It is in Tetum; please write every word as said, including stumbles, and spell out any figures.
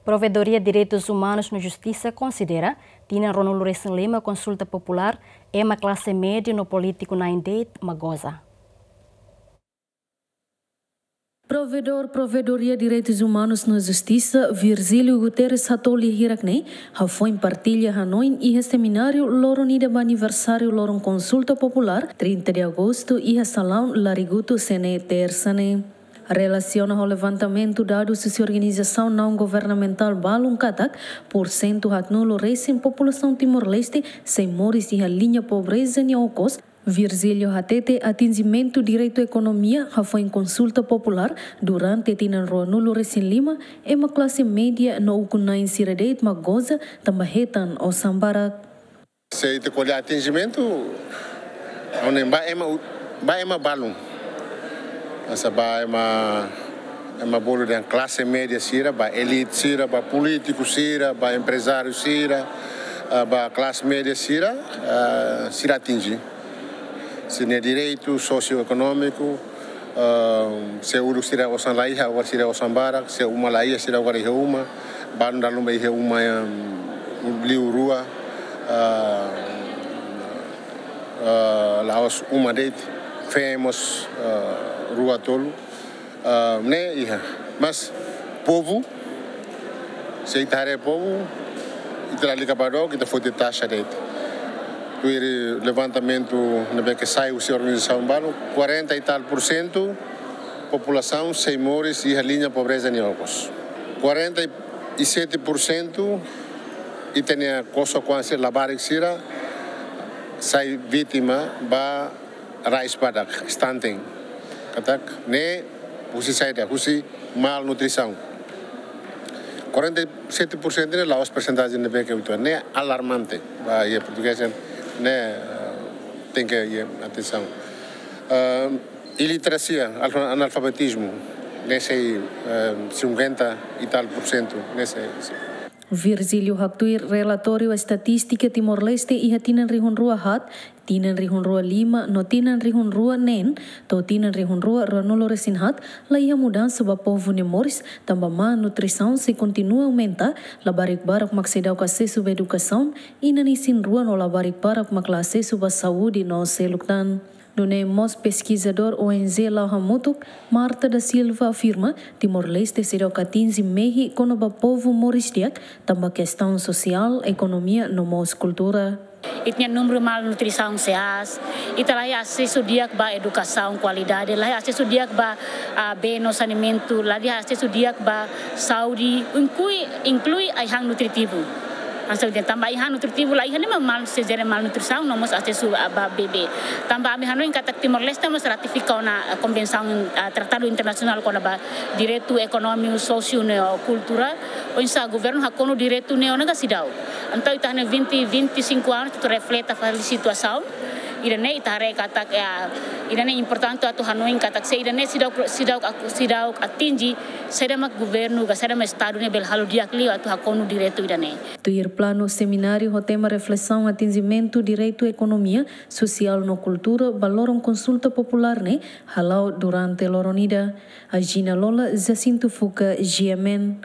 Provedoria Direitus Umanus no Justisa konsidera tinan ruanulu-resin-lima konsulta populár ema klase média no polítiku na'in de'it mak goza. Provedór Provedoria Direitus Umanus no Justisa, Virgílio Guterres Hatoli hirak ne'e, hafoin partilla hanoin iha semináriu loron ida ba aniversáriu loron konsulta populár, trinta de agosto, iha salaun Larigutu, Sene, tersa ne'e. Relasiona ho levantamentu dadus husi organizasaun naun-governamentál balun katak, pursentu haatnulu resin populasaun Timor-Leste sei moris iha liña pobreza nia okos, Virgílio hatete atinjimentu direitu ekonomia hafoin konsulta populár durante tinan ruanulu-resin-lima, ema klase média no ukun-na'in sira de'it mak goza tanba hetan osan barak. Se ita ko'alia atinjimentu, ohin ba ema u-, ba ema balun. Hanesan ba ema, ema bolu dehan klase média sira, ba elite sira, ba polítiku sira, ba emprezáriu sira, ah, ba klase média sira, ah, sira atinji. Sira-nia direitu sosioekonómiku, ah, se uluk sira osan la iha, agora sira osan barak, se uma la iha, sira agora iha uma, balun dala ruma iha uma, em, liu rua, ah, ah, la'ós uma de'it, feen mós, ah, rua tolu, ah, ne'e iha. Mas povu, se ita haree povu, ita lalika ba dook, ita foti taxa de'it. Tuir levantamentu ne'ebé ke sai husi organizasaun balun, quarenta e tal por cento populasaun sei moris iha liña pobreza nia okos. Quarenta e sete por cento ita-nia kosok-oan sira, labarik sira sai vítima ba rais badak, stunting. Katak ne'e husi saida, husi malnutrisaun. Quarenta e sete por cento ne'e la'ós persentajen ne'ebé ke uitoan, ne'e alarmante. Ba iha portugés ne'e, eh, tenke iha atensaun. Eh, iliterasia, alfa-, analfabetizmu, ne'e sei, eh, cinquenta e tal por cento, ne'e sei, sei. Virgílio haktuir relatóriu estatístika Timor-Leste iha tinan rihun rua haat, tinan rihun rua lima no tinan rihun rua neen to'o tinan rihun rua ruanulu-resin-haat, la iha mudansa ba povu nia moris, tanba má nutrisaun sei kontinua aumenta, labarik barak mak seidauk asesu ba edukasaun, inan isin-rua no labarik barak mak la asesu ba saúde no seluk tan. Nune'e mós peskizadór O N G La'o Hamutuk, Marta da Silva afirma, Timor-Leste seidauk atinji mehi kona-ba povu moris di'ak, tanba kestaun sosiál, ekonomia no mós kultura. Ita-nia númeru malnutrisaun sei aas, ita la iha asesu di'ak ba edukasaun kualidade, la iha asesu di'ak ba, ah, bee no saneamentu, la iha asesu di'ak ba saúde, inklui, inklui ai-han nutritivu. Hanesan dehan tanba ai-han nutritivu la iha ne'e mak mal, sei jere malnutrisaun no mós asesu ba bebé. Tanba ami hanoin katak Timor-Leste mós ratifika ona, eh, konvensaun, eh, tratadu internasionál kona-ba direitu ekonómiku, sósiu no kultura. Oinsá governu hakonu direitu ne'e ona ka seidauk. Entaun ita-nia vinte, vinte e cinco anos ita refleta fali situasaun. Ida-ne'e ita haree katak, eh, ida-ne'e importante atu hanoin katak se ida-ne'e seidauk, seidauk, seidauk atinji, saida mak governu ka saida mak estadu ne'e bele halo di'ak liu atu hakonu direitu ida-ne'e. Tuir planu semináriu ho tema reflesaun atinjimentu direitu ekonomia, sosiál no kultura ba loron konsulta populár ne'e hala'o durante loron ida. Agina Lola, Jacinto Fuca, G M N.